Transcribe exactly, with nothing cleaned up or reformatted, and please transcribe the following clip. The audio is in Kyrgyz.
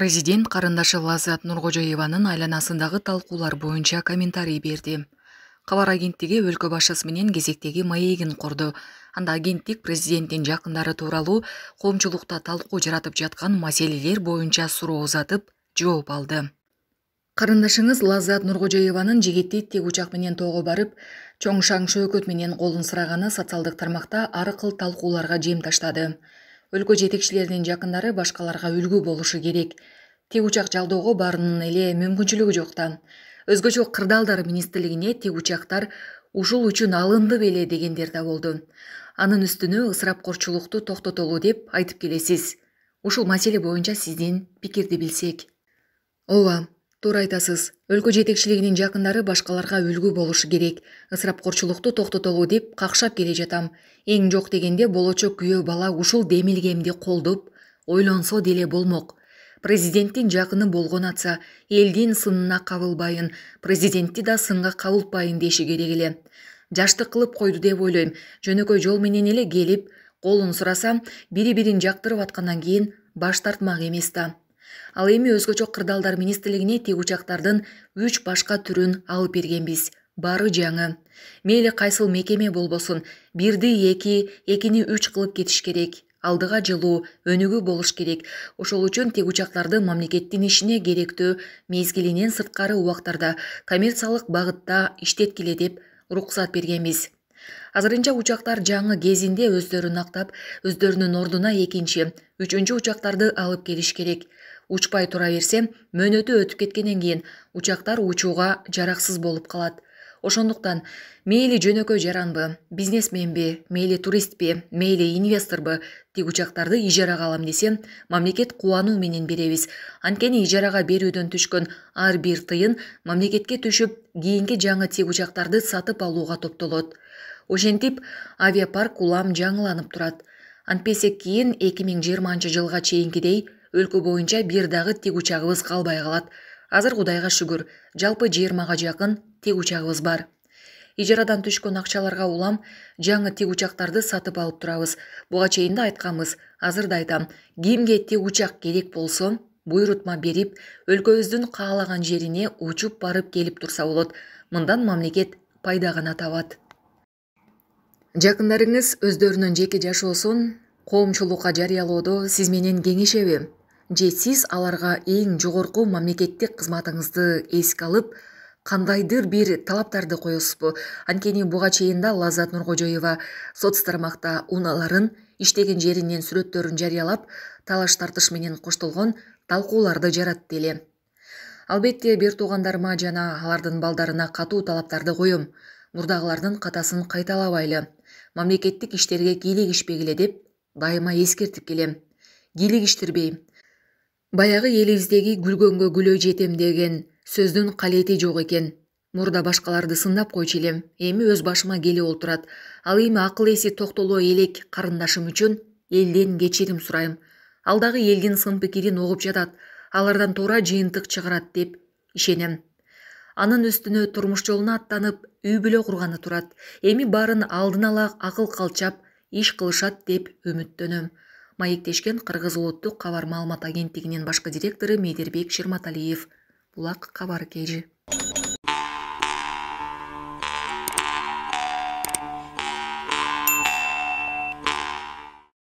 Президент карындашы Лаззат Нуркожоеванын айланасындагы талкуулар боюнча комментарий берди. Кабар агенттиги өлкө башчысы менен кезектеги маегин курду. Анда агенттик президенттин жакындары тууралуу коомчулукта талкуу жаратып жаткан маселелер боюнча суроо узатып, жооп алды. Карындашыңыз Лаззат Нуркожоеванын жигити тик учак менен тоого барып, чоң шаң шөөкөт менен колун сыраганы социалдык тармакта ар кыл талкууларга жем таштады. Өлкө жетекчилеринин жакындары башкаларга үлгү болушу керек. Тик учак жалдоого баарынын эле мүмкүнчүлүгү жок да. Өзгөчө кырдаалдар министрлигине тик учактар ушул үчүн алынды беле дегендер да болду. Анын үстүнө ысырапкорчулукту токтотолу деп айтып келесиз. Ушул маселе боюнча сиздин пикирди билсек. Ооба, туура айтасыз. Өлкө жетекчилигинин жакындары башкаларга үлгү болушу керек. Ысырапкорчулукту токтотолу деп какшап келе жатам. Эң жок дегенде болочок күйөө бала ушул демилгемди колдоп, ойлонсо деле болмок. Президенттин жакыны болгон атса, элдин сынына кабылбайын, президентти да сынга кабылтпайын деши керек эле. Жаштык кылып койду деп ойлойм. Жөнөкөй жол менен эле келип, колун сурасам, бири-бирин жактырып аткандан кийин баш тартмак эмес да. Ал эми өзгөчө кырдаалдар министрлигине тик учактардын үч башка түрүн алып бергенбиз. Баары жаңы. Мейли кайсыл мекеме болбосун, бирди эки, экини үч кылып кетиш керек. Алдыга жылуу, өнүгүү болуш керек. Ошол үчүн тик учактарды мамлекеттин ишине керектүү мезгилинен сырткары убактарда коммерциялык багытта иштеткиле деп уруксат бергенбиз. Азырынча учактар жаңы кезинде өздөрүн актап, өздөрүнүн ордуна экинчи, үчүнчү учактарды алып келиш керек. Учпай тура берсе, мөөнөтү өтүп кеткенден кийин учактар учууга жараксыз болуп калат. Ошондуктан мейли жөнөкөй жаранбы, бизнесменби, мейли туристпи, мейли инвесторбу тик учактарды ижарага алам десе, мамлекет кубануу менен беребиз. Анткени ижарага берүүдөн түшкөн ар бир тыйын мамлекетке түшүп, кийинки жаңы тик учактарды сатып алууга топтолот. Ошентип, авиапарк улам жаңыланып турат. Антпесе кийин эки миң жыйырманчы жылга чейинкидей өлкө боюнча бир дагы тик учагыбыз калбай калат. Азыр Кудайга шүгүр, жалпы жыйырмага жакын тик учагыбыз бар. Ижарадан түшкөн акчаларга улам жаңы тик учактарды сатып алып турабыз. Буга чейин да айтканбыз, азыр да айтам. Кимге тик учак керек болсо, буйрутма берип, өлкөбүздүн каалаган жерине учуп барып келип турса болот. Мындан мамлекет пайда гана табат. Жакындарыңыз өздөрүнүн жеке жашоосун коомчулукка жарыялоодо сиз менен кеңешеби? Же сиз аларга эң жогорку мамлекеттик кызматыңызды эске алып, кандайдыр бир талаптарды коесузбу? Анткени буга чейин да Лаззат Нуркожоева соц тармакта унааларын, иштеген жеринен сүрөттөрүн жарыялап, талаш тартыш менен коштолгон талкууларды жаратты эле. Албетте, бир туугандарыма жана алардын балдарына катуу талаптарды коем. Мурдагылардын катасын кайталабайлы. Мамлекеттик иштерге кийлигишпегиле деп дайыма эскертип келем. Кийлигиштирбей. Баягы элибиздеги гүлгөнгө гүлөө жетем деген сөздүн калети жок экен. Мурда башкаларды сындап койчу элем, эми өз башыма келип олтурат. Ал эми акыл эси токтоло элек карындашым үчүн элден кечирим сурайм. Ал дагы элдин сын пикирин угуп жатат, алардан туура жыйынтык чыгарат деп ишенем. Анын үстүнө турмуш жолуна аттанып, үй бүлө курганы турат. Эми баарын алдын ала акыл калчап, иш кылышат деп үмүттөнөм. Маектешкен Кыргыз улуттук кабар маалымат агенттигинин башкы директору Медербек Шырматалиев. Булак кабар кежи.